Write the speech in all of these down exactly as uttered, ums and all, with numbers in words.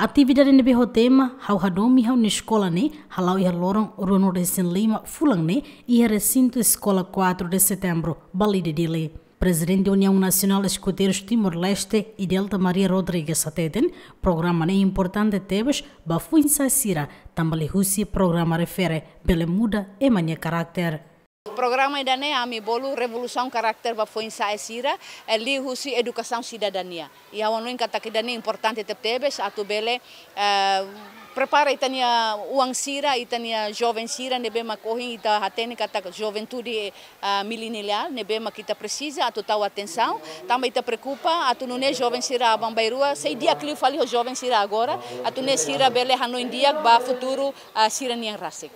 Atividade ne'ebé ho tema Ha'u Hadomi Ha'u-nia Eskola ne'e hala'o iha loron ruanulu-resin-lima fulan ne'e iha resintu Eskola quatro de Setembro, Balide, Dili. Prezidente Uniaun Nasionál Eskoteirus Timor-Leste, Idelta Maria Rodrigues, hateten programa ne'e importante tebes ba foin-sa'e sira, tanba liuhusi programa refere bele muda ema nia karakter. Programa ida-ne'e ami bolu revolusaun karakter ba foin-sa'e sira, eh, liuhusi edukasaun sidadania. I ha'u hanoin katak ida-ne'e importante tebetebes atu bele, eh, prepara ita-nia oan sira, ita-nia joven sira ne'ebé mak ohin ita hatene katak juventude, eh, mileniál ne'ebé mak ita presiza atu tau atensaun, tanba ita preokupa atu nune'e joven sira aban-bainrua sei di'ak liu fali ho joven sira agora, atu nune'e sira bele hanoin di'ak ba futuru, eh, sira-nian rasik.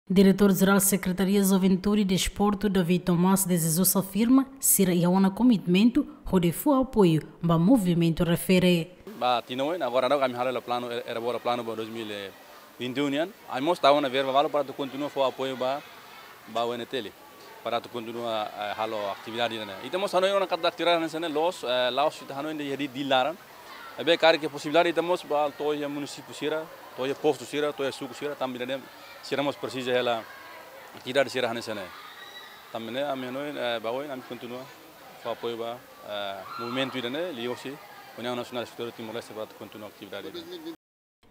Diretór Jerál Sekretaria Juventude i Desportu, David Tomás de Jesus, afirma sira iha ona komitmentu hodi fó apoiu ba movimentu refere. Ba tinan oin, agora daudauk ami halo hela planu, elaborasaun planu ba dois mil e vinte e um nian. Ami mós tau ona verba balu para atu kontinua fó apoiu ba, ba U N T L, para atu kontinua, eh, halo atividade ne'e. Ita mós hanoin ona katak atividade hanesan ne'e loos, eh, la'ós ita hanoin de'it iha Dili laran. Ne'ebé karik iha posibilidade ita mós bá to'o iha munisípiu sira, to'o iha postu sira, to'o iha suku sira, tanba ida-ne'e sira mós presiza hela atividade sira hanesan ne'e. Tanba ne'e ami hanoin, eh, ba oin ami kontinua fó apoiu ba, eh, movimentu ida-ne'e, liuhusi Uniaun Nasionál Eskoteirus Timor-Leste para atu kontinua atividade ida-ne'e.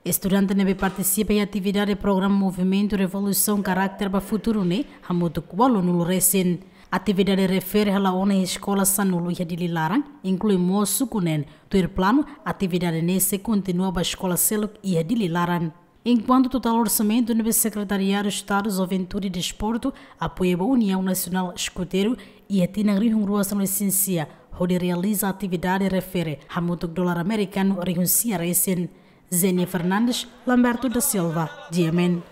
Estudante ne'ebé partisipa iha atividade programa Movimentu Revolusaun Karakter ba Futuru ne'e hamutuk ualunulu resin. Atividade refere hala'o ona iha eskola sanulu iha Dili laran, inklui mós suku neen. Tuir planu, atividade ne'e sei kontinua ba eskola seluk iha Dili laran. Enkuantu totál orsamentu ne'ebé Sekretariadu Estadu Juventude i Desportu apoia ba Uniaun Nasionál Eskoteiru iha tinan rihun rua sanulu-resin-sia hodi realiza atividade refere hamutuk dolar amerikanu rihun sia resin. Zenia Fernandes, Lamberto da Silva, G M N.